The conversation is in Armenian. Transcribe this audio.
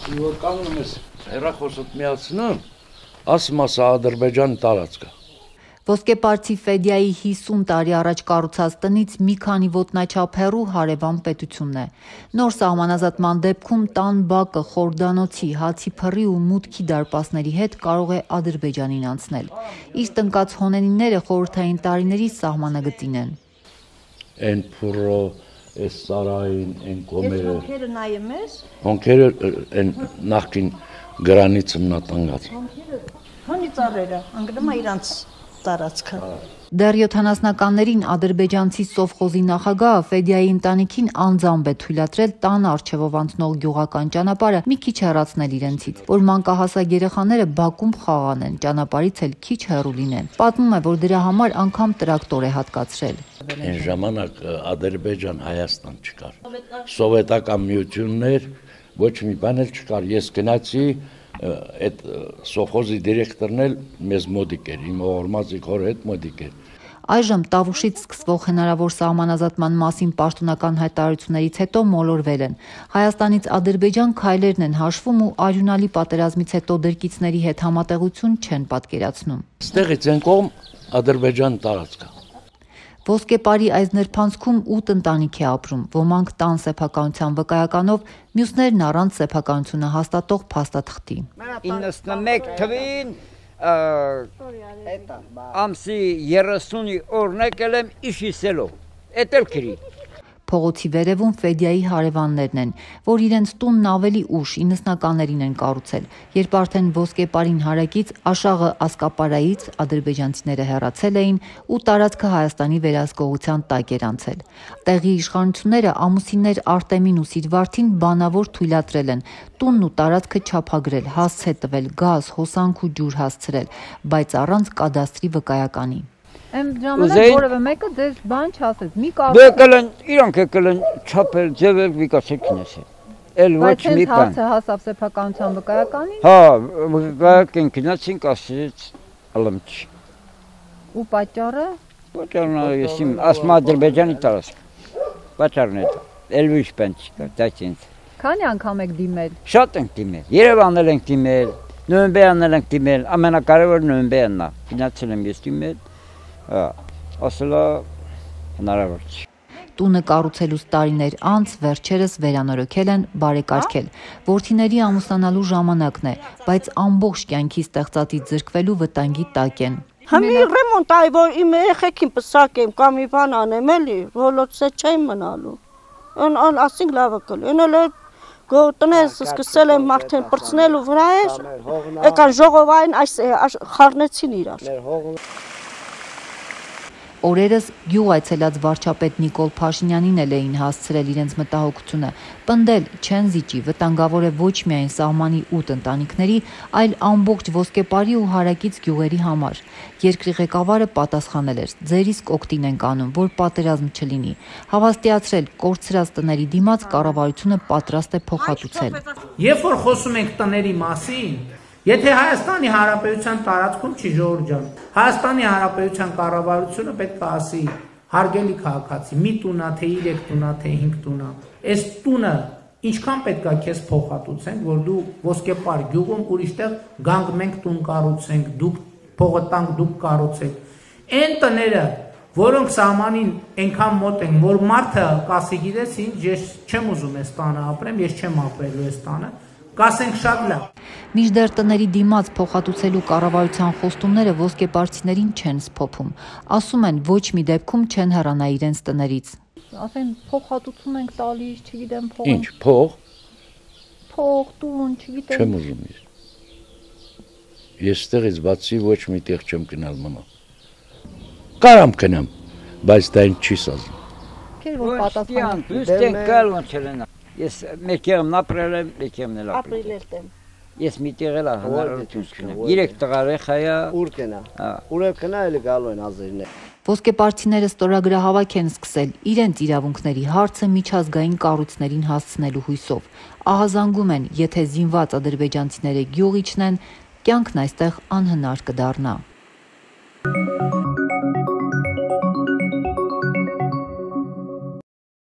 Որ կանգնում ես հեռախոսդ միացնում, ասում ասա Ադրբեջանի տարածքը։ Ոսկեպարցի Ֆեդիայի 50 տարի առաջ կառուցած տնից մի քանի ոտնաչափ հեռու հարևան պետությունն է։ Նոր սահմանազատման դեպքում տան բակը, խորդանոցի, հացի փռի ու մուտքի դարպասների հետ կարող է Ադրբեջանին անցնել։ Իսկ տնկած հոնենիները խորհրդային տարիների սահմանագծին են։ Են փուրո, այս սարային, են կոմերը։ Ես հոնքերը նայեմ ես։ Հոնքերը են նախքին գրանից մնատանգած։ Հոնի ծառերը, անգրում է իրանց տարածքը։ Դեռ 70-ականներին ադրբեջանցի սովխոզի նախագահը Ֆեդիայի ընտանիքին անձամբ է թույլատրել տան առջևով անցնող գյուղական ճանապարհը մի քիչ հեռացնել իրենցից, որ մանկահասակ երեխաները բակում խաղանեն, ճանապարհից էլ քիչ հեռու լինեն։ Պատմում է, որ դրա համար անգամ տրակտոր է հատկացրել։ Այն ժամանակ Ադրբեջան-Հայաստան չկար։ Սովետական միություններ, ոչ մի բան էլ չկար։ Ես գնացի այդ սովխոզի դիրեկտորն էլ մեզ մոդիկ էր, իմ ողորմածի քոր հետ մոդիկ էր։ Այժմ Տավուշից սկսվող հնարավոր սահմանազատման մասին պաշտոնական հայտարարություններից հետո մոլորվել են։ Հայաստանից Ադրբեջան քայլերն են հաշվում ու արյունալի պատերազմից հետո դրկիցների հետ համատեղություն չեն պատկերացնում։ Ստեղից են կողմ Ադրբեջան տարածքը։ Ոսկեպարի այս նրբանցքում 8 ընտանիք է ապրում, ոմանք տան սեփականության վկայականով, մյուսներն առանց սեփականությունը հաստատող փաստաթղթի։ 91 թվին ամսի 30-ի օրն եկել եմ Իշիսելով, էդ էլ քրի։ Փողոցի վերևում Ֆեդիայի հարևաններն են, որ իրենց տունն ավելի ուշ 90-ականներին են կառուցել, երբ արդեն Ոսկեպարին հարակից Աշաղը Ասկապարայից ադրբեջանցիները հեռացել էին ու տարածքը Հայաստանի վերահսկողության տակ էր անցել։ Տեղի իշխանությունները ամուսիններ Արտեմին ու Սիրվարդին բանավոր թույլատրել են տունն ու տարածքը չափագրել, հասցե տվել, գազ, հոսանք ու ջուր հասցրել, բայց առանց կադաստրի վկայականի։ Եմ ժամանակ որևէ մեկը դες բան չասեց, մի կարող։ Եկել են, իրանք եկել են չափել, ձևել, վիկասել քնեցել։ Էլ ոչ մի բան։ Բայց հասավ սեփականության վկայականին։ Հա, վկայական քնեցին, ասեց ալմչ։ Ու պատճառը։ Պատճառն ես իմ ասում Ադրբեջանի տարածք։ Պատճառն է դա։ Էլ ոչ բան չկա, դա ինձ։ Քանի անգամ եք դիմել։ Շատ ենք դիմել։ Երևանն էլ ենք դիմել, Նոյեմբերն էլ ենք դիմել, ամենակարևորը Նոյեմբերն է։ Գնացել եմ ես դիմել։ Ասելա հնարավոր չի։ Տունը կառուցելուց տարիներ անց վերջերս վերանորոգել են, բարեկարգել։ Որդիների ամուսնանալու ժամանակն է, բայց ամբողջ կյանքի ստեղծածից զրկվելու վտանգի տակ են։ Համի ռեմոնտ այ որ իմ երեխեքին պսակեմ կամ մի բան անեմ էլի, ոլոցե չեմ մնալու։ Ան ասինք լավը կլի։ Էնը գոտնես սկսել եմ արդեն բրցնելու վրա է։ Եկան ժողովային այս խառնեցին իրար։ Օրերս գյուղ այցելած վարչապետ Նիկոլ Փաշինյանին էլ էին հասցրել իրենց մտահոգությունը, պնդել չեն զիջի, վտանգավոր է ոչ միայն սահմանի 8 ընտանիքների, այլ ամբողջ Ոսկեպարի ու հարակից գյուղերի համար։ Երկրի ղեկավարը պատասխանել էր. ձեր իսկ օգտին ենք անում, որ պատերազմ չլինի։ Հավաստիացրել կորցրած տների դիմաց կառավարությունը պատրաստ է փոխհատուցել։ Երբ որ խոսում ենք տների մասին, եթե Հայաստանի Հանրապետության տարածքում չի ժողովուրդ ջան, Հայաստանի Հանրապետության կառավարությունը պետք է ասի հարգելի քաղաքացի, մի տունա, թե 3 տունա, թե 5 տունա, այս տունը ինչքան պետք է քեզ փոխհատուցենք, որ դու Ոսկեպար գյուղում ուրիշտեղ գանք մենք տուն կառուցենք, դուք փողը տանք, դուք կառուցեք։ Այն տները, որոնք սահմանին այնքան մոտ են, որ մարդը կասի գիտես ինչ, ես չեմ ուզում այս տանը ապրեմ, ես չեմ ապրելու այս տանը, կասենք շատ լավ։ Մինչդեռ տների դիմաց փոխհատուցելու կառավարության խոստումները ոսկեպարցիներին չեն սփոփում։ Ասում են ոչ մի դեպքում չեն հեռանա իրենց տներից։ Ասեն փոխհատուցում ենք տալիս, չգիտեմ փող։ Ինչ փող։ Փող, տուն, չգիտեմ։ Չեմ ուզում ես։ Ես ստեղից բացի ոչ մի տեղ չեմ գնալ մնա։ Կարամ գնամ, բայց դա ինձ չի սազում։ Քեր որ պատասխան։ Դեն կալուն չլենա։ Ես մեկերն ապրել եմ, մեկերն էլ ապրել եմ։ Ես մի տեղ էլ հնարավորություն չունեմ։ 3 տղար եղայա։ Ուր կնա։ Ուր կնա էլ գալու են ազերներ։ Ոսկեպարցիները ստորագրահավաք են սկսել իրենց իրավունքների հարցը միջազգային կառույցներին հասցնելու հույսով։ Ահազանգում են, եթե զինված ադրբեջանցիները գյուղ իջնեն, կյանքն այստեղ անհնար կդառնա։